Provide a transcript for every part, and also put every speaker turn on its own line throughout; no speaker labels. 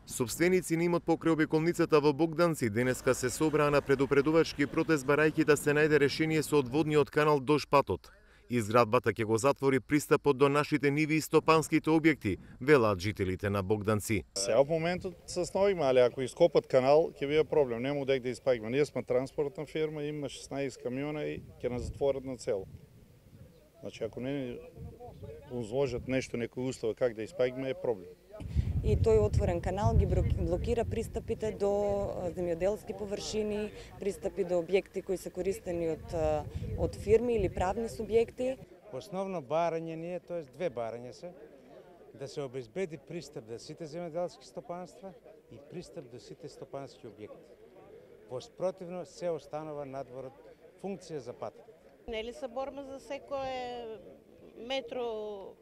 Собственици на имот покрај обиколницата во Богданци денеска се собраа на предупредувачки протест барајќи да се најде решение со одводниот канал до патот. Изградбата ќе го затвори пристапот до нашите ниви и стопанските објекти, велат жителите на Богданци.
Сега во моментот се сновиме, али ако ископат канал, ќе биде проблем. Нема одек да испаѓаме. Ние сме транспортна фирма, има 16 камиона и ќе нас затворат на цело. Значи, ако не узложат нешто, некој услов как да испаѓаме, е проблем.
И тој отворен канал ги блокира пристапите до земјоделски површини, пристапи до објекти кои се користени од фирми или правни субјекти.
Основно барање ни е, тоест две барања се, да се обезбеди пристап до сите земјоделски стопанства и пристап до сите стопански објекти. Воспротивно се останува надвор од функција за патот.
Нели се борба за секое метро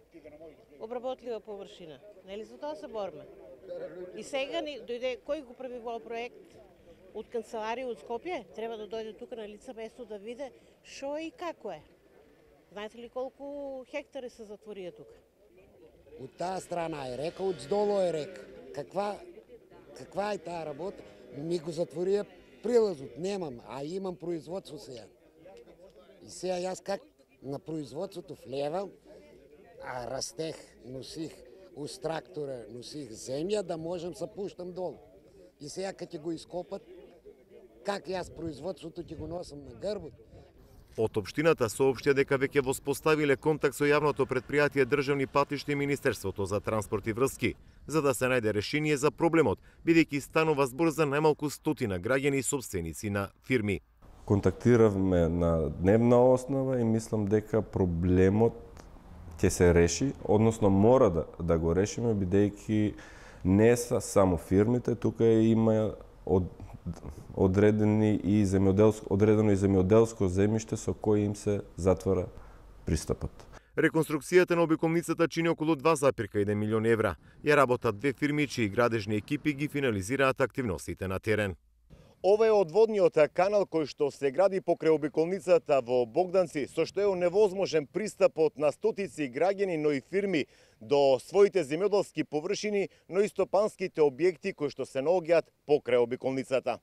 обработлива површина? Нели за тоа се борба? И сега дојде кој го прави во проект од канцеларија од Скопје, треба да дојде тука на лице место да види што и како е. Знаете ли колку хектари се затворија тука?
Од таа страна е река, од здолу е река. Каква е таа работа? Ми го затворија прилазот, немам, а имам производство сега. И сега јас как на производството влевам, а растех, носих уз трактора, носих земја да можам се пуштам долу. И сега кога ќе го ископат, как јас производството ќе го носам на грбот?
Од општината соопштија дека веќе воспоставиле контакт со јавното претпријатие Државни патишта и Министерството за транспорт и врски, за да се најде решение за проблемот, бидејќи станува збор за најмалку 100 граѓани и собственици на фирми.
Контактиравме на дневна основа и мислам дека проблемот ќе се реши, односно мора да го решиме, бидејќи не са само фирмите, тука има одредено и земјоделско земјиште со кој им се затвора пристапот.
Реконструкцијата на обиколницата чини околу 2,1 милион евра. Ја работат две фирми чии градежни екипи ги финализираат активностите на терен. Ова е одводниот канал кој што се гради покрај обиколницата во Богданци, со што е невозможен пристапот на стотици граѓани, но и фирми до своите земјоделски површини, но и стопанските објекти кои што се наоѓаат покрај обиколницата.